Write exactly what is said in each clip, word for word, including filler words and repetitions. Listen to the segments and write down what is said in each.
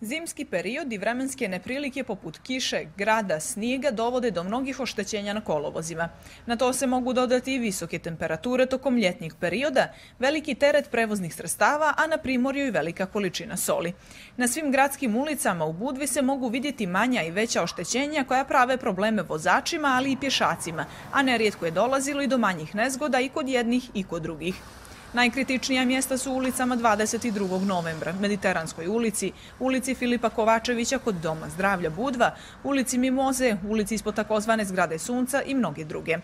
Zimski period i vremenske neprilike poput kiše, grada, snijega dovode do mnogih oštećenja na kolovozima. Na to se mogu dodati i visoke temperature tokom ljetnjeg perioda, veliki teret prevoznih sredstava, a na primorju i velika količina soli. Na svim gradskim ulicama u Budvi se mogu vidjeti manja i veća oštećenja koja prave probleme vozačima, ali i pješacima, a nerijetko je dolazilo i do manjih nezgoda i kod jednih i kod drugih. Najkritičnija mjesta su ulicama dvadeset drugog novembra, Mediteranskoj ulici, ulici Filipa Kovačevića kod Doma zdravlja Budva, ulici Mimoze, ulici ispod takozvane zgrade Sunca i mnoge druge.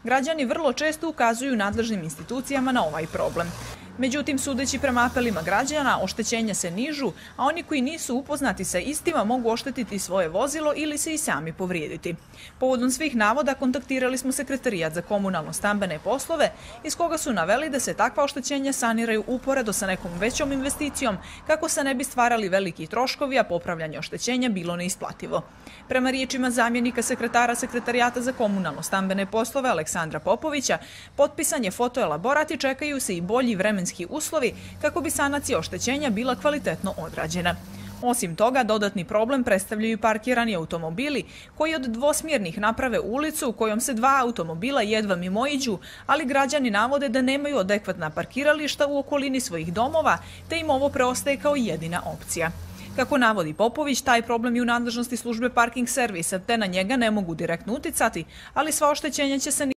Građani vrlo često ukazuju nadležnim institucijama na ovaj problem. Međutim, sudeći prema apelima građana, oštećenja se nižu, a oni koji nisu upoznati sa istima mogu oštetiti svoje vozilo ili se i sami povrijediti. Povodom svih navoda kontaktirali smo Sekretarijat za komunalno-stambene poslove, iz koga su naveli da se takva oštećenja saniraju uporedo sa nekom većom investicijom, kako se ne bi stvarali veliki troškovi, a popravljanje oštećenja bilo neisplativo. Prema riječima zamjenika sekretara Sekretarijata za komunalno-stambene poslove Aleksandra Popovića, potpisan je fotoelaborat i čekaju se i bolji vremenski uslovi kako bi sanacija oštećenja bila kvalitetno odrađena. Osim toga, dodatni problem predstavljaju parkirani automobili koji od dvosmjernih naprave ulicu u kojom se dva automobila jedva mimoiđu, ali građani navode da nemaju adekvatna parkirališta u okolini svojih domova, te im ovo preostaje kao jedina opcija. Kako navodi Popović, taj problem je u nadležnosti službe parking servisa, te na njega ne mogu direktno uticati, ali sva oštećenja će se